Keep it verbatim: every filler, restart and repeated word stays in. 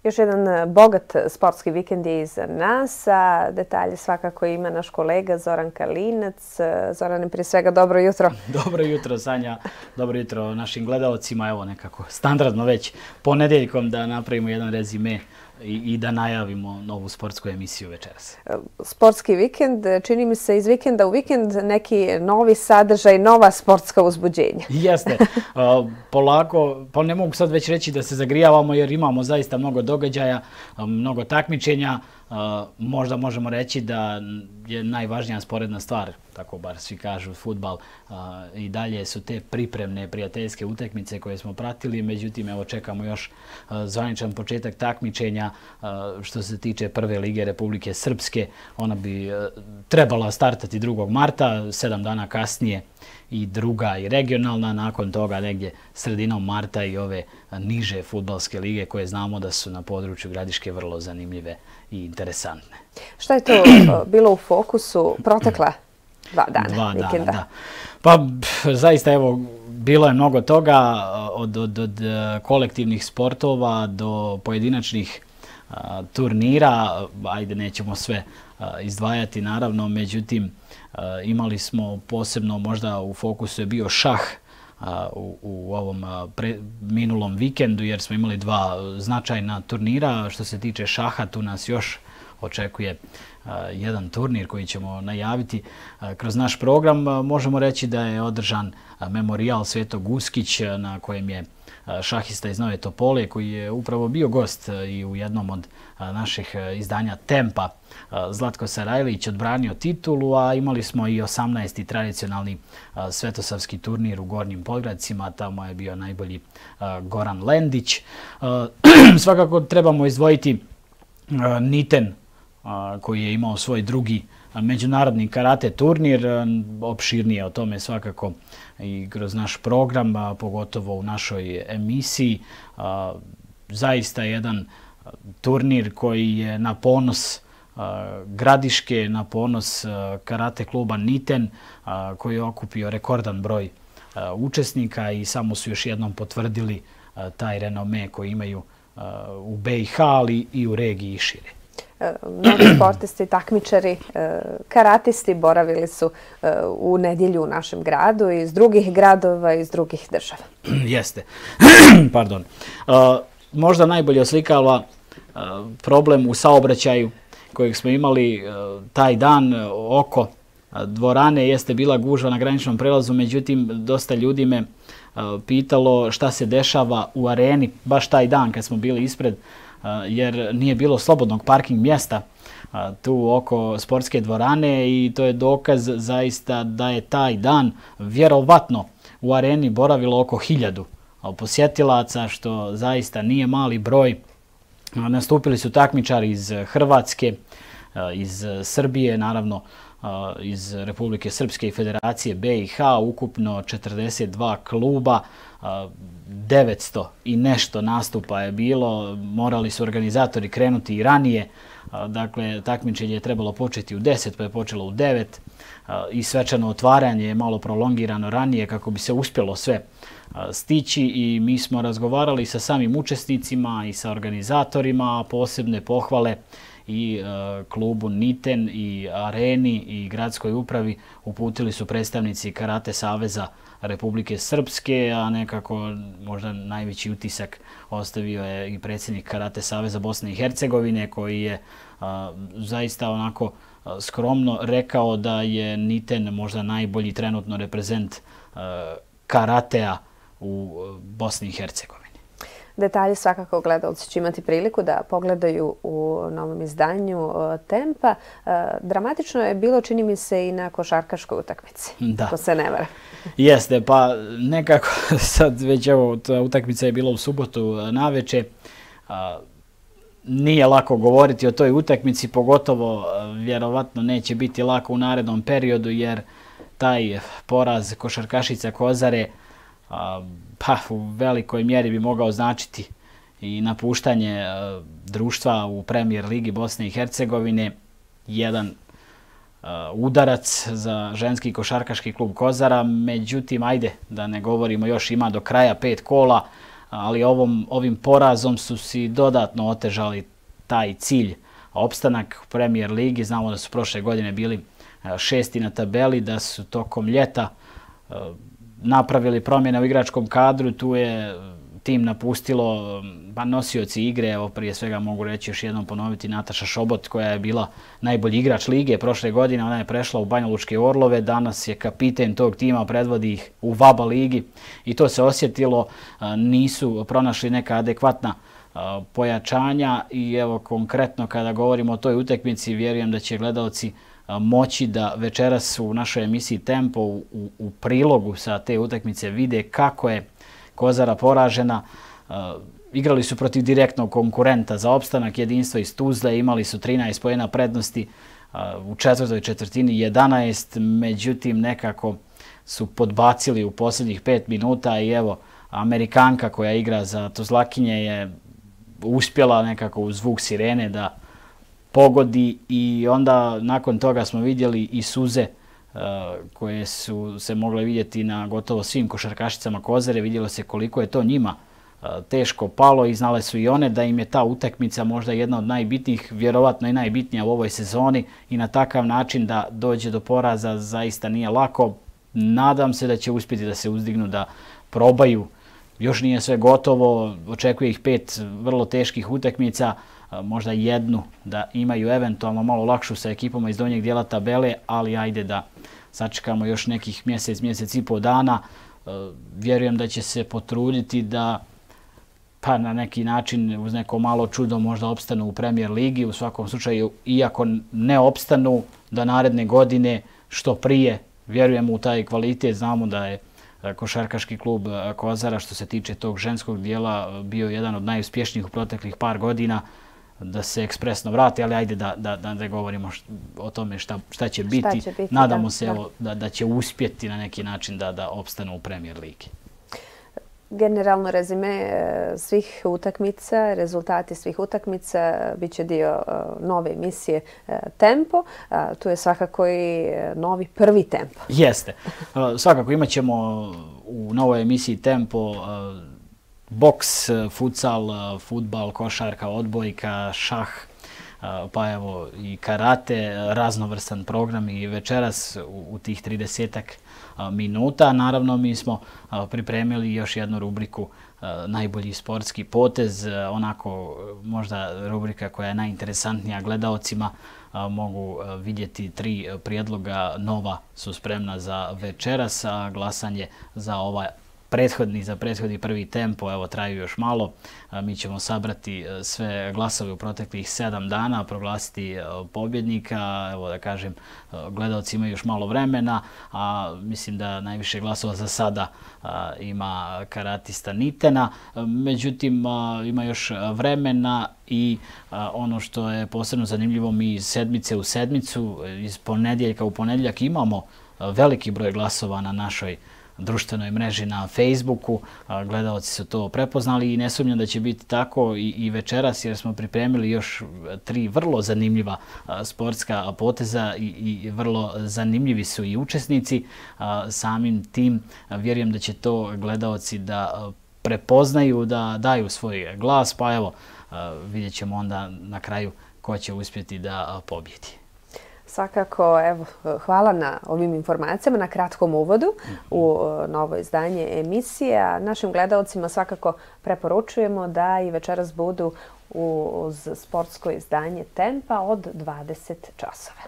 Još jedan bogat sportski vikend je iza nas, a detalje svakako ima naš kolega Zoran Kalinac. Zorane, prije svega, dobro jutro. Dobro jutro, Sanja. Dobro jutro našim gledalcima. Evo nekako standardno već ponedeljkom da napravimo jedan rezime i da najavimo novu sportsku emisiju večeras. Sportski vikend, čini mi se iz vikenda u vikend neki novi sadržaj, nova sportska uzbuđenja. Jeste. Polako, pa ne mogu sad već reći da se zagrijavamo jer imamo zaista mnogo događaja, mnogo takmičenja. Možda možemo reći da je najvažnija sporedna stvar, tako bar svi kažu, fudbal. I dalje su te pripremne prijateljske utakmice koje smo pratili, međutim evo čekamo još zvaničan početak takmičenja što se tiče prve lige Republike Srpske. Ona bi trebala startati drugog marta, sedam dana kasnije i druga i regionalna, nakon toga negdje sredinom marta i ove niže fudbalske lige koje znamo da su na području Gradiške vrlo zanimljive i interesantne. Šta je to bilo u fokusu protekla dva dana Dva vikenda? dana, da. Pa zaista evo, bilo je mnogo toga od, od, od kolektivnih sportova do pojedinačnih a, turnira. Ajde, nećemo sve a, izdvajati naravno, međutim a, imali smo posebno, možda u fokusu je bio šah U, u ovom pre, minulom vikendu jer smo imali dva značajna turnira. Što se tiče šaha, tu nas još očekuje a, jedan turnir koji ćemo najaviti a, kroz naš program. Možemo reći da je održan a, memorijal Svetog Uskić a, na kojem je a, šahista iz Nove Topole koji je upravo bio gost a, i u jednom od a, naših a, izdanja Tempa. Zlatko Sarajlić odbranio titulu, a imali smo i osamnaesti tradicionalni svetosavski turnir u Gornjim Podgradcima. Tamo je bio najbolji Goran Lendić. Svakako trebamo izdvojiti Niten koji je imao svoj drugi međunarodni karate turnir. Opširnije o tome svakako i kroz naš program, pogotovo u našoj emisiji. Zaista jedan turnir koji je na ponos Gradiške, na ponos karate kluba Niten koji je okupio rekordan broj učesnika i samo su još jednom potvrdili taj renome koji imaju u B i H, ali i u regiji i šire. Mnogi sportisti, takmičari, karatisti boravili su u nedjelju u našem gradu iz drugih gradova i iz drugih država. Jeste. Pardon. Možda najbolje oslikava problem u saobraćaju kojeg smo imali taj dan oko dvorane. Jeste bila gužva na graničnom prelazu, međutim dosta ljudi me pitalo šta se dešava u areni baš taj dan kad smo bili ispred, jer nije bilo slobodnog parking mjesta tu oko sportske dvorane i to je dokaz zaista da je taj dan vjerovatno u areni boravilo oko hiljadu posjetilaca, što zaista nije mali broj. Nastupili su takmičari iz Hrvatske, iz Srbije, naravno iz Republike Srpske i Federacije B i H, ukupno četrdeset dva kluba, devetsto i nešto nastupa je bilo. Morali su organizatori krenuti i ranije, dakle takmičenje je trebalo početi u deset, pa je počelo u devet i svečano otvaranje je malo prolongirano ranije kako bi se uspjelo sve stići i mi smo razgovarali sa samim učesnicima i sa organizatorima. Posebne pohvale i e, klubu Niten i areni i gradskoj upravi uputili su predstavnici Karate Saveza Republike Srpske, a nekako možda najveći utisak ostavio je i predsjednik Karate Saveza Bosne i Hercegovine koji je a, zaista onako a, skromno rekao da je Niten možda najbolji trenutno reprezent a, karatea u Bosni i Hercegovini. Detalje svakako gledalci će imati priliku da pogledaju u novom izdanju Tempa. Dramatično je bilo, čini mi se, i na košarkaškoj utakmici. Da. To se ne vara. Jeste, pa nekako sad već evo, ta utakmica je bila u subotu naveče. Nije lako govoriti o toj utakmici, pogotovo vjerovatno neće biti lako u narednom periodu jer taj poraz košarkašica Kozare pa u velikoj mjeri bi mogao značiti i napuštanje društva u Premier ligi Bosne i Hercegovine. Jedan udarac za ženski košarkaški klub Kozara, međutim, ajde da ne govorimo, još ima do kraja pet kola. ali ovom, ovim porazom su si dodatno otežali taj cilj. Opstanak u Premier ligi, znamo da su prošle godine bili šesti na tabeli, da su tokom ljeta napravili promjene u igračkom kadru, tu je tim napustilo pa nosioci igre, evo prije svega mogu reći još jednom ponoviti Nataša Šobot koja je bila najbolji igrač lige prošle godine, ona je prešla u Banjalučke Orlove, danas je kapiten tog tima, predvodi ih u VABA ligi i to se osjetilo, nisu pronašli neka adekvatna pojačanja i evo konkretno kada govorimo o toj utakmici vjerujem da će gledalci moći da večeras u našoj emisiji Tempo u, u prilogu sa te utakmice vide kako je Kozara poražena. Uh, igrali su protiv direktnog konkurenta za opstanak, Jedinstvo iz Tuzle, imali su trinaest poena prednosti, uh, u četvrtoj četvrtini jedanaest, međutim nekako su podbacili u posljednjih pet minuta i evo Amerikanka koja igra za Tuzlakinje je uspjela nekako u zvuk sirene da pogodi i onda nakon toga smo vidjeli i suze uh, koje su se mogle vidjeti na gotovo svim košarkašicama Kozare. Vidjelo se koliko je to njima uh, teško palo i znale su i one da im je ta utakmica možda jedna od najbitnijih, vjerovatno i najbitnija u ovoj sezoni i na takav način da dođe do poraza zaista nije lako. Nadam se da će uspjeti da se uzdignu, da probaju. Još nije sve gotovo, očekuje ih pet vrlo teških utakmica, možda jednu da imaju eventualno malo lakšu sa ekipama iz donjeg dijela tabele, ali ajde da sačekamo još nekih mjesec, mjesec i pol dana. Vjerujem da će se potruditi da pa na neki način uz neko malo čudo možda opstanu u Premier ligi. U svakom slučaju, iako ne opstanu, da naredne godine što prije vjerujemo u taj kvalitet. Znamo da je košarkaški klub Kozara što se tiče tog ženskog dijela bio jedan od najuspješnijih u proteklih par godina, da se ekspresno vrati, ali ajde da, da, da ne govorimo o tome šta, šta će biti. Šta će biti Nadamo da, se da. Evo, da, da će uspjeti na neki način da, da opstanu u Premier ligi. Generalno rezime svih utakmica, rezultati svih utakmica bit će dio nove emisije Tempo. Tu je svakako i novi prvi Tempo. Jeste. Svakako imat ćemo u novoj emisiji Tempo boks, futsal, fudbal, košarka, odbojka, šah, pa evo i karate, raznovrstan program i večeras u, u tih tridesetak minuta. Naravno, mi smo pripremili još jednu rubriku najbolji sportski potez, onako možda rubrika koja je najinteresantnija gledaocima. Mogu vidjeti tri prijedloga nova su spremna za večeras, a glasanje za ovaj prethodni, za prethodni prvi Tempo, evo traju još malo. Mi ćemo sabrati sve glasove u proteklih sedam dana, proglasiti pobjednika. Evo da kažem, gledalci imaju još malo vremena, a mislim da najviše glasova za sada ima karatista Nitena. Međutim, ima još vremena i ono što je posebno zanimljivo, mi iz sedmice u sedmicu, iz ponedjeljka u ponedjeljak imamo veliki broj glasova na našoj društvenoj mreži na Facebooku. Gledalci su to prepoznali i ne sumnjam da će biti tako i, i večeras, jer smo pripremili još tri vrlo zanimljiva sportska poteza i, i vrlo zanimljivi su i učesnici. Samim tim vjerujem da će to gledalci da prepoznaju, da daju svoj glas, pa evo vidjet ćemo onda na kraju ko će uspjeti da pobjedi. Svakako, evo, hvala na ovim informacijama, na kratkom uvodu u novo izdanje emisije. A našim gledalcima svakako preporučujemo da i večeras budu uz sportsko izdanje Tempa od dvadeset časova.